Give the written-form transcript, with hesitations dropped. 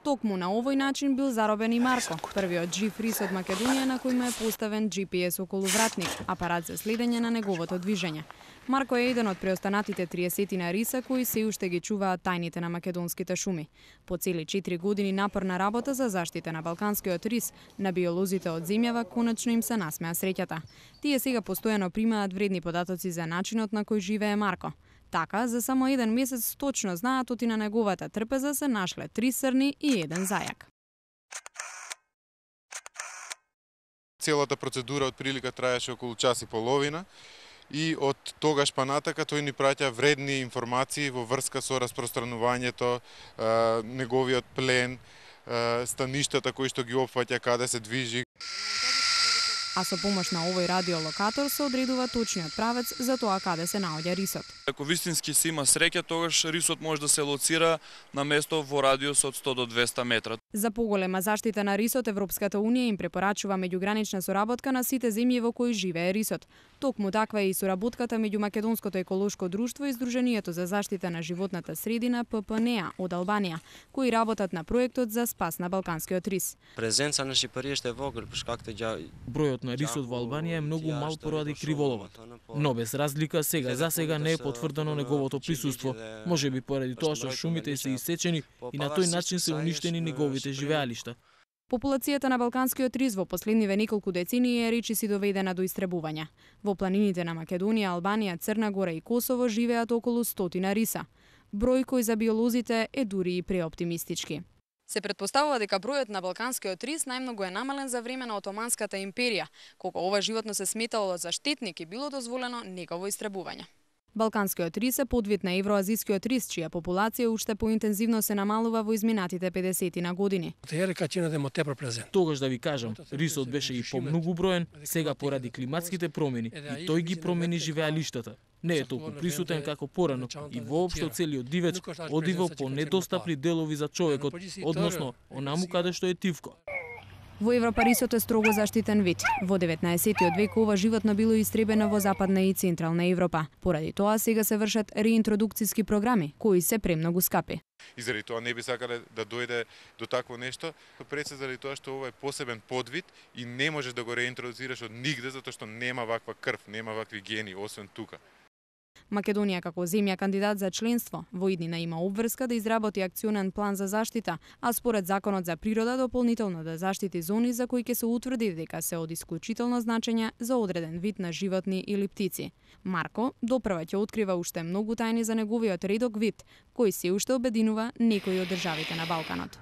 Токму на овој начин бил заробен и Марко, првиот жив рис од Македонија на кој му е поставен GPS околу вратник, апарат за следење на неговото движење. Марко е еден од преостанатите 30 риса кои се уште ги чуваат тајните на македонските шуми. По цели 4 години напорна работа за заштита на балканскиот рис, на биолозите од земјава конечно им се насмеа среќата. Тие сега постојано примаат вредни податоци за начинот на кој живее Марко. Така, за само еден месец точно знаат оти на неговата трпеза се нашле 3 срни и 1 зајак. Целата процедура од прилика траеше околу час и половина и од тогаш па натака тој ни праќа вредни информации во врска со распространувањето, неговиот плен, стаништата кои што ги опфаќа, каде се движи. А со помош на овој радиолокатор се одредува точниот правец за тоа каде се наоѓа рисот. Ако вистински се има среќа, тогаш рисот може да се лоцира на место во радиус од 100 до 200 метра. За поголема заштита на рисот, Европската унија им препорачува меѓугранична соработка на сите земји во кои живее рисот. Токму таква е и соработката меѓу Македонското еколошко друштво и Сдруженијето за заштита на животната средина ППНЕА од Албанија, кои работат на проектот за спас на балканскиот рис. Презенца на Шипарије е вогел, пошкакто Бројот на рисот во Албанија е многу мал поради криволовот. Но без разлика за сега не е потврдено неговото присуство, можеби поради тоа што шумите се исечени и на тој начин се уништени неговите живеалишта. Популацијата на балканскиот рис во последниве неколку децении е речиси доведена до истребување. Во планините на Македонија, Албанија, Црна Гора и Косово живеат околу 100 риса. Број кој за биолозите е дури и преоптимистички. Се претпоставува дека бројот на балканскиот рис најмногу е намален за време на Отоманската империја, кога ова животно се сметало за штетник и било дозволено негово истребување. Балканскиот рис е подвид на евроазискиот рис, чија популација уште поинтензивно се намалува во изминатите 50 години. Тогаш да ви кажам, рисот беше и помногу броен, сега поради климатските промени и тој ги промени живеалиштата. Не е толку присутен како порано и воопшто целиот дивеч одива по недостапни делови за човекот, односно онаму каде што е тивко. Во Европа рисот е строго заштитен вид. Во 19 век ова животно било истребено во Западна и Централна Европа. Поради тоа сега се вршат реинтродукциски програми, кои се премногу скапи. И заради тоа не би сакале да дојде до такво нешто, пред се заради тоа што ова е посебен подвид и не можеш да го реинтродуцираш од нигде затоа што нема ваква крв, нема вакви гени освен тука. Македонија како земја кандидат за членство во иднина има обврска да изработи акционен план за заштита, а според Законот за природа дополнително да заштити зони за кои ќе се утврди дека се од исклучително значење за одреден вид на животни или птици. Марко допрва ќе открива уште многу тајни за неговиот редок вид, кој се уште обединува некои од државите на Балканот.